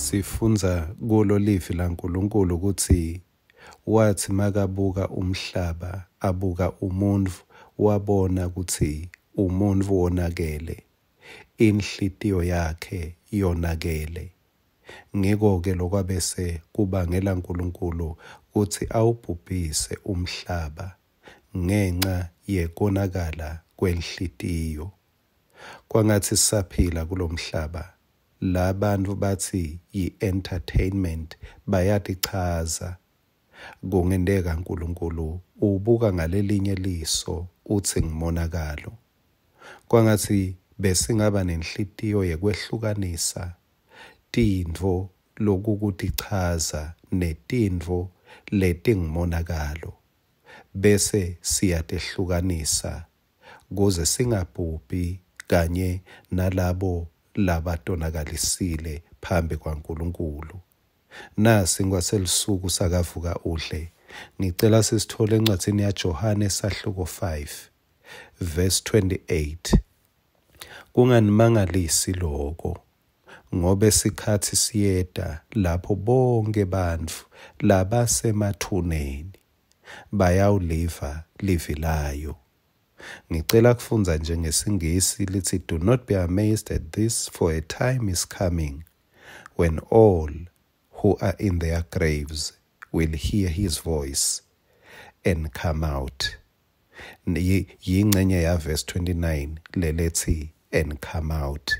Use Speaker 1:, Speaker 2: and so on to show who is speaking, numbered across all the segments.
Speaker 1: Sifundza kulo livi laNkulunkulu kutsi watsi makabuka umhlaba abuka umuntfu wabona kutsi umuntfu wonakele, inhlitiyo yakhe yonakele. Ngiko-ke lokwabese kubangela Nkulunkulu kutsi awubhubhise umhlaba ngenca yekonakala kwenhlitiyo. Kwangatsi sisaphila kulomhlaba, la bantfu batsi yi-entertainment bayatichaza. Kungenteka Nkulunkulu ubuka ngalelinye liso utsi ngumonakalo. Kwangatsi besingaba nenhlitiyo yekwehlukanisa tintfo lokukutichaza netintfo letingumonakalo, bese siyatehlukanisa kuze singabhubhi kanye nalabo labatonakalisile phambi kwaNkulunkulu. Nasi ngwaselisuku sakavuka udle. Ngicela sisithole encwadzini yaJohane sahluko 5 verse 28. Kunganimangalisi loko, ngobe sikhatsi siyeta lapho bonkhe bantfu labasemathuneni bayawuliva livi layo. Ngicela kufundza nje ngesiNgisi litsi, "Do not be amazed at this, for a time is coming when all who are in their graves will hear his voice and come out." Yingcenye ya verse 29 lelethi "and come out".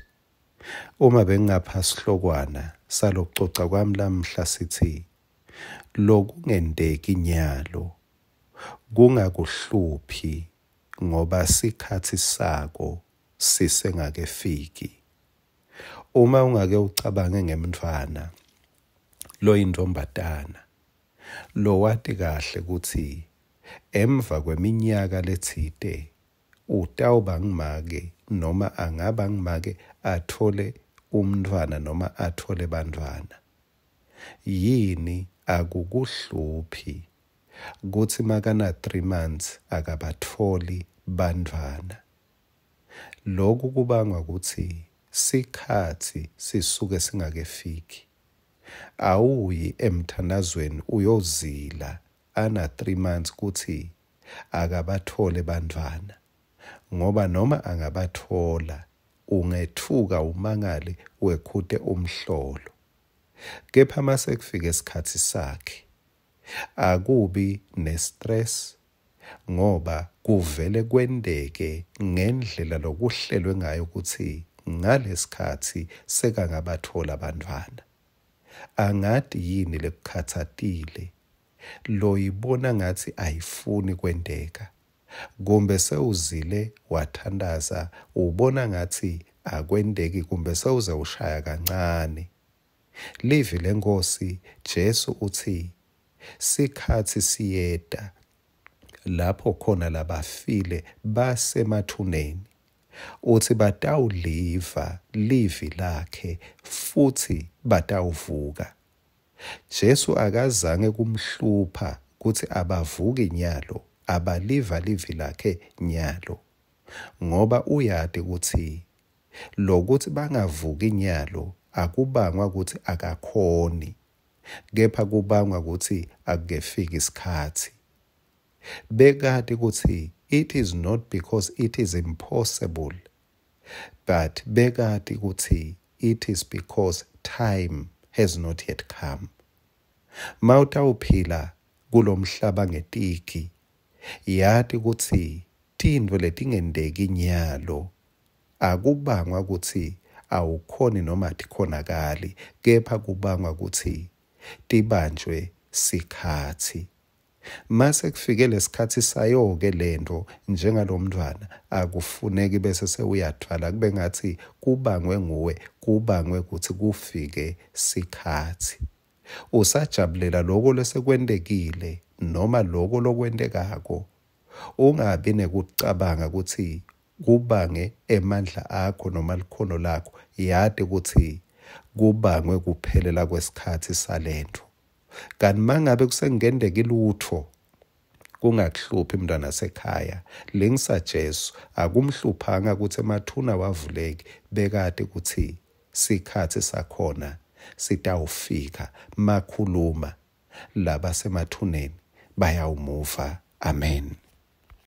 Speaker 1: Uma bengingapha sihlokwana salokucoca kwami lamhla sithi, lokungenteki nyalo kungakuhluphi ngoba sikhatsi sako sisengakefiki. Uma ungake ucabange ngemntfwana loyintombatana lowati kahle kutsi emva kweminyaka letsite utawuba ngumake noma angaba ngumake atfole umntfwana noma atfole bantfwana, yini akukuhluphi kutsi makana 3 months akabatfoli bantfwana? Lokhu kubangwa kutsi sikhatsi sisuke singakefiki. Awuyi emthandazweni uyozila ana 3 months kutsi akabathole bantfwana, ngoba noma angabathola ungethuka umangale wekhute umhlolo. Kepha mase kufika isikhatsi sakhe akubi ne-stress, ngoba kuvele kwenteke ngendlela lokuhlelwe ngayo kutsi ngalesikhatsi sekangabathola abantwana. Angati yini lekukhatsatile loyibona ngathi ayifuni kwenteka, kumbe sewuzile wathandaza ubona ngathi akwenteki, kumbe sewuze ushaya kancane. Livi leNkosi Jesu utsi sikhatsi siyeta lapho khona labafile basemathuneni, utsi batawuliva livi lakhe futhi batawuvuka. Jesu akazange kumhlupha kutsi abavuki nyalo, abaliva livi lakhe nyalo, ngoba uyati kutsi lokuthi bangavuki nyalo akubangwa kutsi akakhoni, kepha kubangwa kutsi akukefiki isikhatsi. Bekati kutsi it is not because it is impossible, but bekati kutsi it is because time has not yet come. Mawutawuphila kulomhlaba ngetiki, yati kutsi tintfo letingenteki nyalo akubangwa kutsi awukhoni noma atikhonakali, kepha kubangwa kutsi tibanjwe sikhatsi. Mase kufike lesikhatsi sayo-ke lento njengalomntfwana akufuneki bese sewuyathwala kube ngathi kubangwe nguwe, kubangwe kutsi kufike sikhatsi. Usajabulela loko lesekwentekile noma loko lokwentekako, ungabi nekucabanga kutsi kubange emandla akho noma likhono lakho. Yati kutsi kubangwe kuphelela kwesikhatsi salento. Kanti mangabe kusengenteki lutfo, kungakuhluphi mntwana sekhaya. Lingisa Jesu, akumhluphanga kutsi emathuna wavuleki, bekati kutsi sikhatsi sakhona sitawufika makhuluma labasemathuneni bayawumuva. Amen.